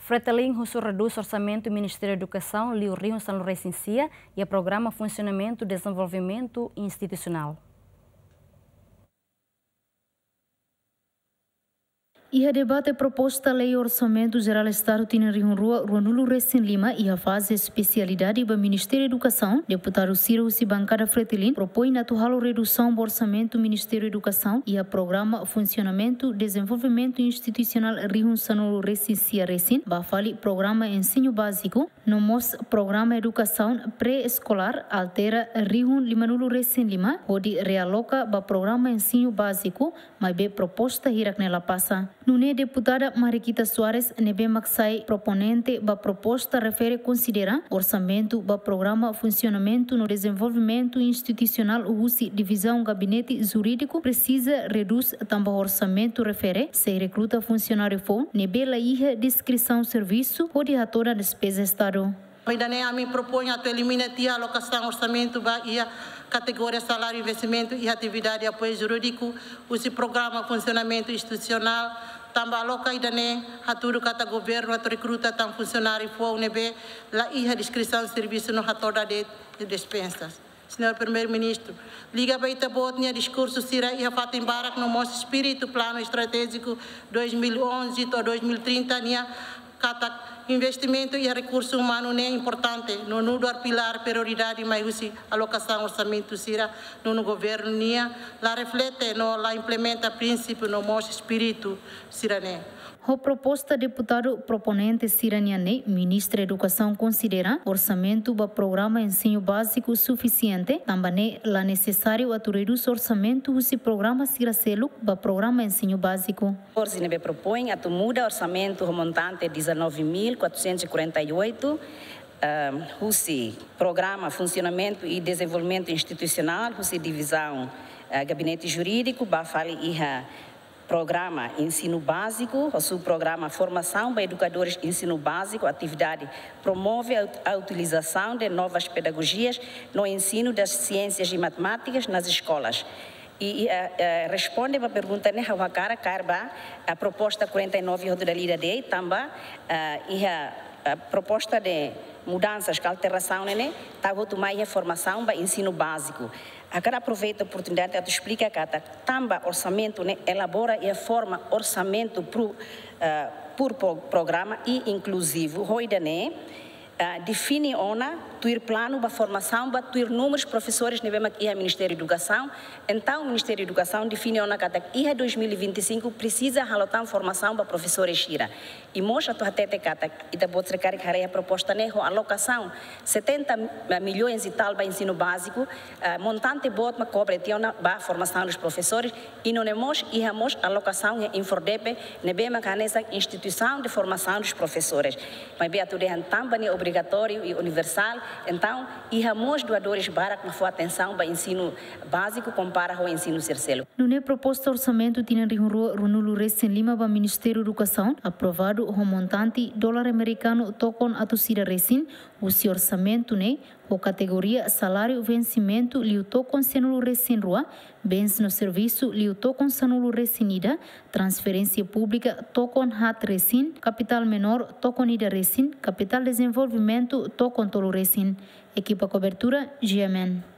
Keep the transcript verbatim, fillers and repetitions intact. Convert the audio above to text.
Fretilin husu redús orsamentu Ministériu Edukasaun liu rihun sanulu-resin-sia iha programa funsionamentu dezenvolvimentu institusionál. Iha debate proposta lei Orsamentu Jerál Estadu tinan rihun rua ruanulu-resin-lima iha faze espesialidade ba Ministériu Edukasaun, deputadu sira husi bankada Fretilin propoin atu halo redusaun ba orsamentu Ministériu Edukasaun iha programa funsionamentu dezenvolvimentu institusionál rihun sanulu-resin-sia resin ba fali programa ensinu báziku, no mós programa edukasaun pré-eskolár altera rihun limanulu-resin-lima hodi realoka ba programa ensinu báziku, maibé proposta hirak ne'e la pasa. Nune'e deputada Mariquita Soares ne'ebé mak sai proponente ba proposta refere konsidera orsamentu ba programa funsionamentu no dezenvolvimentu institusionál husi divizaun gabinete jurídiku presiza redús tanba orsamentu refere sei rekruta funsionáriu foun ne'ebé la iha deskrisaun servisu hodi hatodan despeza Estadu. Ida-ne'e ami propoin atu elimina tiha alokasaun orsamentu ba iha kategoria saláriu investimentu iha atividade apoiu jurídiku husi programa funsionamentu institusionál, tanba aloka ida-ne'e hatudu katak governu atu rekruta tan funsionáriu foun ne'ebé la iha deskrisaun servisu no hatodan de'it despensas. Señór Primeiru-Ministru, liga ba ita-boot nia diskursu sira iha fatin barak no mós espíritu planu estratéjiku dois mil e onze to'o dois mil e trinta nia katak investimentu iha rekursu umanu ne'e importante no nu'udar pilár prioridade, mai husi alokasaun orsamentu sira nonu governu nia la reflete no la implementa prinsípiu no mós espíritu sira-ne'e. Ho proposta deputadu proponente sira-nian ne'e, Ministra Edukasaun konsidera orsamentu ba programa ensinu báziku sufisiente, tanba ne'e la nesesáriu atu redús orsamentu husi programa sira seluk ba programa ensinu báziku. Forsi ne'ebé propoin atu muda orsamentu ho montante dezanove mil quatrocentos e quarenta e oito, ah, husi programa funsionamentu i dezenvolvimentu institusionál, husi divizaun, ah, gabinete jurídiku, ba fali iha programa ensinu báziku, ho subprograma formasaun ba edukadores ensinu báziku, atividade promove a ut-, a utilização de novas pedagogias no ensino das ciências e matemáticas nas escolas. I, i, eh, eh, responde ba pergunta ne'e ha'u hakarak kaer ba, eh, proposta quarenta e nove hotu dala ida de'it, tanba, eh, iha, eh, proposta de mudansas ka alterasaun ne'e, tau hotu mai iha formasaun ba ensinu báziku. Hakarak aproveita oportunidade atu esplika katak tanba orsamentu ne'e elabora iha forma orsamentu pro, eh, por pro-, programa i inkluzivu, ho ida-ne'e, ah, define ona tuir planu ba formasaun ba tuir númerus profesores ne'ebé mak iha Ministériu Edukasaun. Entaun, Ministériu Edukasaun define ona katak iha dois mil e vinte e cinco presiza halo tan formasaun ba profesores sira. I mós atu hatete katak ita-boot sira karik haree iha proposta ne'e ho alokasaun setenta milhões e tal ba ensinu báziku, ah, montante boot mak kobre tiha ona ba formasaun dos profesores, i nune'e mós iha mós alokasaun iha INFORDEPE, ne'ebé mak hanesan instituisaun de formasaun dos profesores. Maibé atu dehan tanba ne'e obrigatóriu i universál, entaun iha mós doadores barak mak fó atensaun ba ensinu báziku kompara ho ensinu sira seluk. Nune'e proposta orsamentu tinan rihun rua ruanulu-resin-lima ba Ministériu Edukasaun aprovadu ho montante dolar amerikanu tokon atus ida resin, husi orsamentu ne'e, ho kategoria saláriu vensimentu liu tokon sanulu-resin-rua, bens no servisu liu tokon sanulu-resin-ida, transferénsia públika tokon haat resin, kapitál menór tokon ida resin, kapitál dezenvolvimentu tokon tolu resin. Ekipa kobertura, G M N.